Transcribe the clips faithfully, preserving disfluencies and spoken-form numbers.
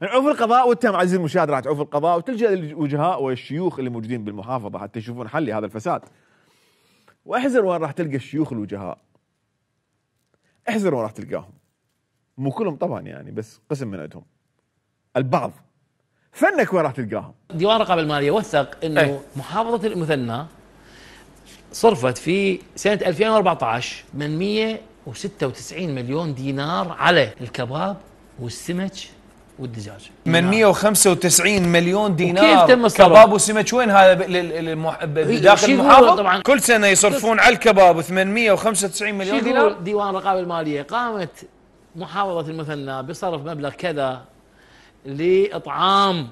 نعوف القضاء، وانت عزيزي المشاهد راح تعوف القضاء وتلجأ للوجهاء والشيوخ اللي موجودين بالمحافظه حتى يشوفون حل لهذا الفساد. واحذر وين راح تلقى الشيوخ الوجهاء، احذر وين راح تلقاهم، مو كلهم طبعا يعني، بس قسم من عندهم، البعض. فنك وين راح تلقاهم؟ ديوان الرقابه الماليه وثق انه أي. محافظه المثنى صرفت في سنه ألفين وأربعة عشر ثمانمئة وستة وتسعين مليون دينار على الكباب والسمك والدجاج. ثمانمئة وخمسة وتسعين مليون دينار كيف تم الصرف؟ كباب وسمك وين هذا بداخل المحافظه؟ طبعا كل سنه يصرفون على الكباب ثمانمئة وخمسة وتسعين مليون دينار. ديوان الرقابه الماليه قامت محافظه المثنى بصرف مبلغ كذا لاطعام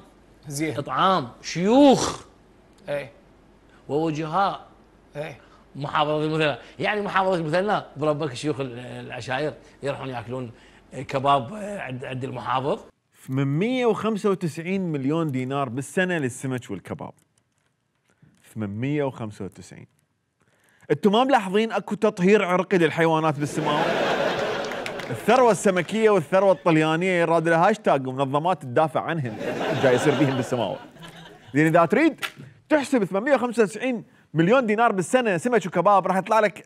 زين اطعام شيوخ اي ووجهاء اي محافظه المثنى. يعني محافظه المثنى بربك شيوخ العشائر يروحون ياكلون كباب عند عند المحافظ. ثمانمئة وخمسة وتسعين مليون دينار بالسنه للسمك والكباب. ثمانمئة وخمسة وتسعين. انتم ما ملاحظين اكو تطهير عرقي للحيوانات بالسماوه؟ الثروه السمكيه والثروه الطليانيه يراد لها هاشتاج ومنظمات تدافع عنهم جاي يصير بيهم بالسماوه. لان اذا تريد تحسب ثمانمئة وخمسة وتسعين مليون دينار بالسنه سمك وكباب راح يطلع لك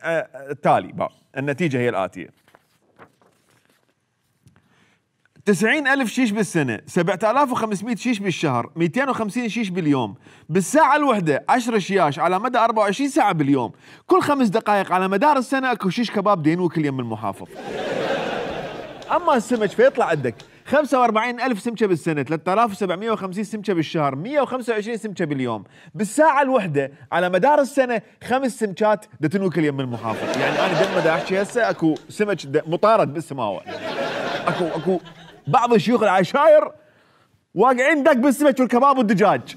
التالي بقى. النتيجه هي الاتيه: تسعين ألف شيش بالسنة، سبعة آلاف وخمسمئة شيش بالشهر، مئتين وخمسين شيش باليوم، بالساعة الوحدة عشرة شياش على مدى أربعة وعشرين ساعة باليوم، كل خمس دقائق على مدار السنة اكو شيش كباب دينوك كل يوم المحافظ. أما السمك فيطلع عندك خمسة وأربعين ألف سمكة بالسنة، ثلاثة آلاف وسبعمئة وخمسين سمكة بالشهر، مئة وخمسة وعشرين سمكة باليوم، بالساعة الوحدة على مدار السنة خمس سمكات دتنوك كل يوم المحافظ. يعني أنا دم دا أحكي هسه اكو سمك مطارد بالسماوة. اكو اكو بعض شيوخ العشائر واقعين دق بالسمك والكباب والدجاج.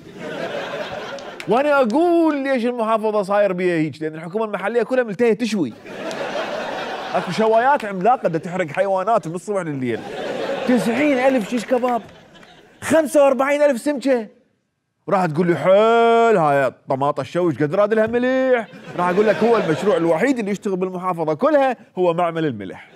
وانا اقول ليش المحافظه صاير بيها هيك؟ لان الحكومه المحليه كلها ملتهيه تشوي. اكو شوايات عملاقه بدها تحرق حيوانات من الصبح لليل. تسعين ألف شيش كباب، خمسة وأربعين ألف سمكه. راح تقول لي حيل هاي الطماطه الشوي قد راد لها مليح. راح اقول لك هو المشروع الوحيد اللي يشتغل بالمحافظه كلها هو معمل الملح.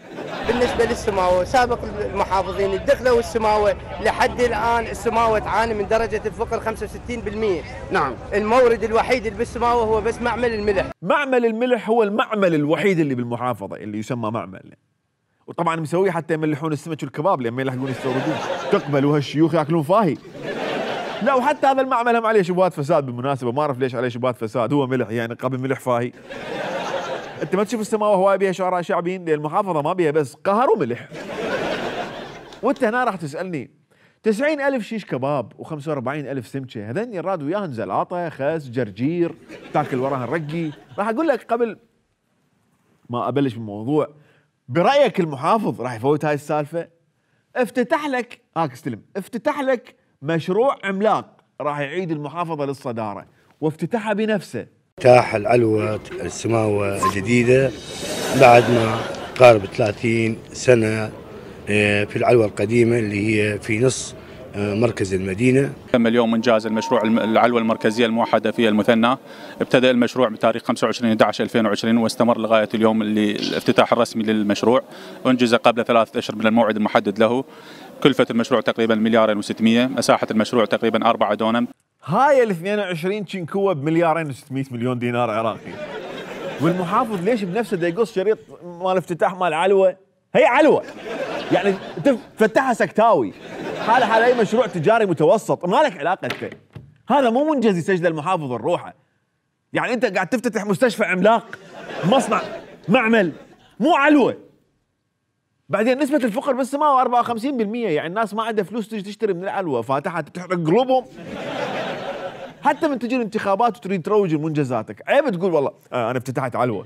بالنسبه للسماوه سابق المحافظين الدخله والسماوه لحد الان السماوه تعاني من درجه الفقر خمسة وستين بالمئة. نعم المورد الوحيد اللي بالسماوه هو بس معمل الملح. معمل الملح هو المعمل الوحيد اللي بالمحافظه اللي يسمى معمل. وطبعا مسويه حتى يملحون السمك والكباب لما يلحقون يستوردون. تقبلوا هالشيوخ ياكلون فاهي. لا وحتى هذا المعمل هم عليه شبهات فساد بالمناسبه، ما اعرف ليش عليه شبهات فساد، هو ملح يعني قبل ملح فاهي. انت ما تشوف السماوه هواي بيها شعراء شعبيين؟ لان المحافظه ما بيها بس قهر وملح. وانت هنا راح تسالني تسعين ألف شيش كباب وخمسة وأربعين ألف سمكه، هذين يراد وياهن زلاطه، خس، جرجير، تاكل وراهن رقي. راح اقول لك قبل ما ابلش بالموضوع، برايك المحافظ راح يفوت هاي السالفه؟ افتتح لك هاك استلم، افتتح لك مشروع عملاق راح يعيد المحافظه للصداره، وافتتحها بنفسه. افتتاح العلوة السماوة الجديدة بعد ما قارب ثلاثين سنة في العلوة القديمة اللي هي في نص مركز المدينة. تم اليوم إنجاز المشروع العلوة المركزية الموحدة في المثنى. ابتدأ المشروع بتاريخ خمسة وعشرين أحد عشر ألفين وعشرين واستمر لغاية اليوم اللي الافتتاح الرسمي للمشروع. أنجز قبل ثلاثة أشهر من الموعد المحدد له. كلفة المشروع تقريبا مليارين وستمئة، مساحة المشروع تقريبا أربعة دونم. هاي ال اثنين وعشرين شنكوه بمليارين وستمئة مليون دينار عراقي. والمحافظ ليش بنفسه دا يقص شريط مال افتتاح مال علوه؟ هي علوه يعني تفتحها سكتاوي. حاله حال اي مشروع تجاري متوسط، ما لك علاقه انت. هذا مو منجز يسجله المحافظ الروحه. يعني انت قاعد تفتتح مستشفى عملاق، مصنع، معمل، مو علوه. بعدين نسبة الفقر بالسماوة أربعة وخمسين بالمئة، يعني الناس ما عندها فلوس تجي تشتري من العلوة، فاتحة تحرق قلوبهم. حتى من تجي الانتخابات وتريد تروج لمنجزاتك، عيب تقول والله آه انا افتتحت علوة.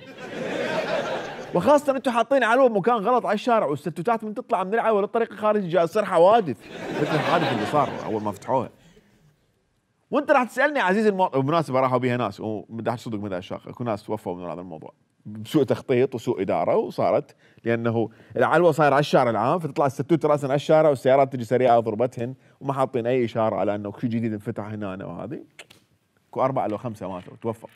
وخاصة انتم حاطين علوة بمكان غلط على الشارع، والستوتات من تطلع من العلوة للطريق الخارجي جاي تصير حوادث مثل الحادث اللي صار اول ما فتحوها. وانت راح تسالني عزيزي المواطن، بالمناسبة راحوا بيها ناس ومدح صدق مدح الشاق، اكو ناس توفوا من هذا الموضوع بسوء تخطيط وسوء اداره، وصارت لانه العلوه صاير على الشارع العام، فتطلع الستوت راسا على الشارع والسيارات تجي سريعه ضربتهن وما حاطين اي اشاره على انه شيء جديد انفتح هنا وهذه. اكو اربعه لو خمسه ماتوا توفوا.